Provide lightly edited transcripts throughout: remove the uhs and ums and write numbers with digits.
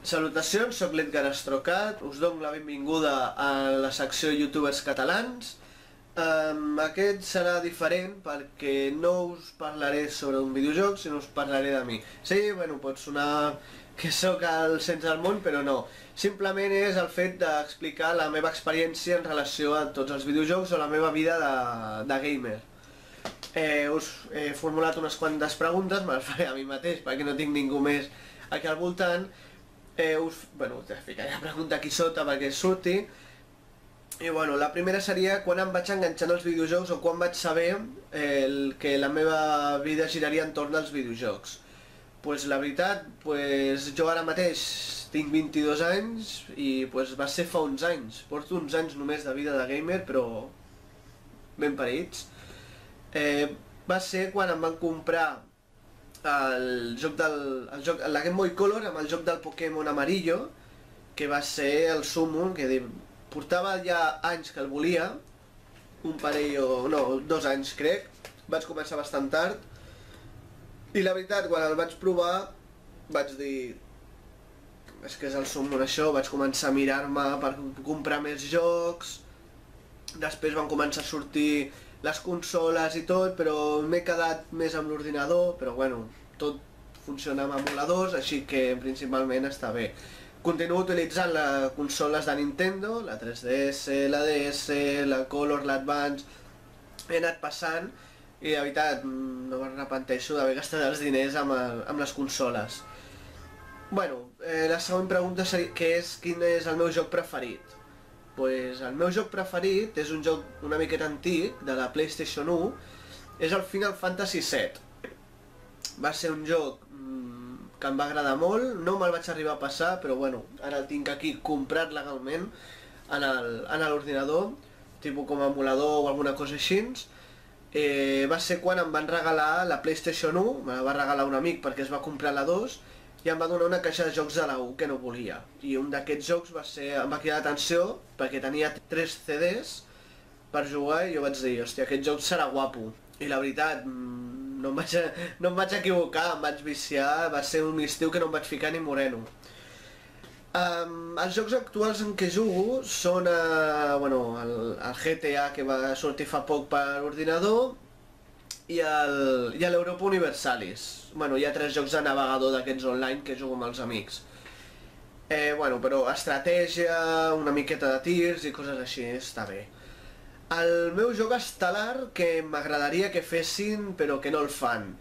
Salutacions, soc l'Edgar Astrocat, us dono la benvinguda a la secció Youtubers catalans. Aquest serà diferent perquè no us parlaré sobre un videojoc, sinó us parlaré de mi. Sí, bueno, pot sonar que sóc el centre del món, però no. Simplement és el fet d'explicar la meva experiència en relació a tots els videojocs o la meva vida de gamer. Us he formulat unes quantes preguntes, me les faré a mi mateix perquè no tinc ningú més aquí al voltant. Us ficaré la pregunta aquí sota perquè surti. I bueno, la primera seria quan em vaig enganxar als videojocs o quan vaig saber que la meva vida giraria entorn als videojocs. Pues la veritat, jo ara mateix tinc 22 anys i va ser fa uns anys. Porto uns anys només de vida de gamer, però ben parits. Va ser quan em van comprar la Game Boy Color amb el joc del Pokémon Amarillo, que va ser el súmmum, que portava ja anys que el volia, un parell o... no, 2 anys crec, vaig començar bastant tard, i la veritat, quan el vaig provar, vaig dir... és que és el súmmum això, vaig començar a mirar-me per comprar més jocs, després van començar a sortir les consoles i tot, però m'he quedat més amb l'ordinador, però bueno, tot funciona amb emuladors, així que principalment està bé. Continuo utilitzant les consoles de Nintendo, la 3DS, la DS, la Color, l'Advance, he anat passant i de veritat no m'arrepenteixo d'haver gastat els diners amb les consoles. Bueno, la següent pregunta seria quin és el meu joc preferit? El meu joc preferit és un joc una miqueta antic, de la PlayStation 1, és el Final Fantasy VII. Va ser un joc que em va agradar molt, no me'l vaig arribar a passar, però bueno, ara el tinc aquí comprat legalment en l'ordinador, tipus com a emulador o alguna cosa així. Va ser quan em van regalar la PlayStation 1, me la va regalar un amic perquè es va comprar la 2, i em va donar una caixa de jocs de la 1 que no volia. I un d'aquests jocs em va cridar l'atenció perquè tenia 3 CDs per jugar i jo vaig dir, hòstia, aquest joc serà guapo. I la veritat, no em vaig equivocar, em vaig viciar, va ser un estiu que no em vaig ficar ni moreno. Els jocs actuals en què jugo són el GTA que va sortir fa poc per ordinador i l'Europa Universalis. Hi ha 3 jocs de navegador d'aquests online que jugo amb els amics. Però estratègia, una miqueta de tirs i coses així, està bé. El meu joc estel·lar que m'agradaria que fessin però que no el fan.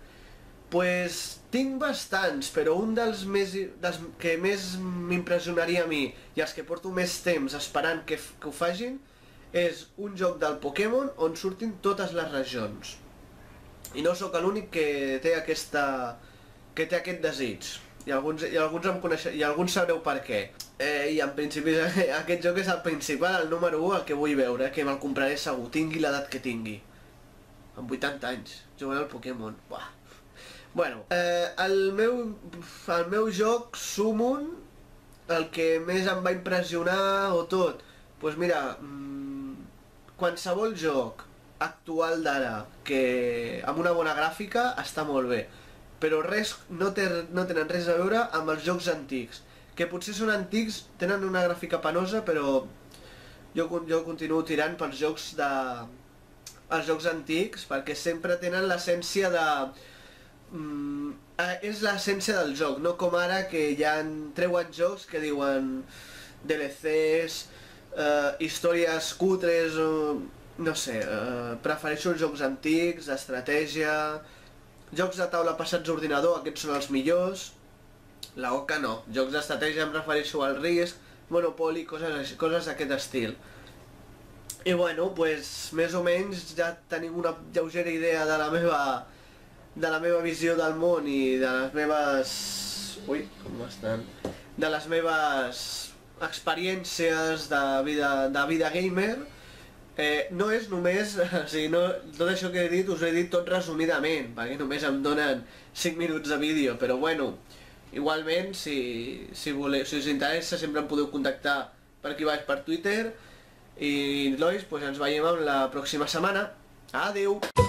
Tinc bastants, però un dels que més m'impressionaria a mi i els que porto més temps esperant que ho facin és un joc del Pokémon on surtin totes les regions. I no sóc l'únic que té aquest desig. I alguns sabreu per què. I en principi aquest joc és el principal, el número 1, el que vull veure, que me'l compraré segur, tingui l'edat que tingui. Amb 80 anys, jugant al Pokémon. El meu joc Summon, el que més em va impressionar o tot, doncs mira, qualsevol joc actual d'ara, que amb una bona gràfica està molt bé, però no tenen res a veure amb els jocs antics, que potser són antics, tenen una gràfica penosa, però jo continuo tirant pels jocs antics, perquè sempre tenen l'essència és l'essència del joc, no com ara que ja treuen jocs que diuen DLCs, històries cutres, no sé, prefereixo els jocs antics, d'estratègia, jocs de taula passats a ordinador, aquests són els millors, la Oca no, jocs d'estratègia em refereixo al Risk, Monopoly, coses d'aquest estil. I bueno, més o menys ja tenim una lleugera idea de la meva visió del món i de les meves... Ui, com estan? De les meves experiències de vida gamer. No és només, tot això que he dit us ho he dit tot resumidament, perquè només em donen 5 minuts de vídeo, però bueno, igualment, si us interessa sempre em podeu contactar per aquí baix per Twitter, i nois, ens veiem la pròxima setmana. Adeu!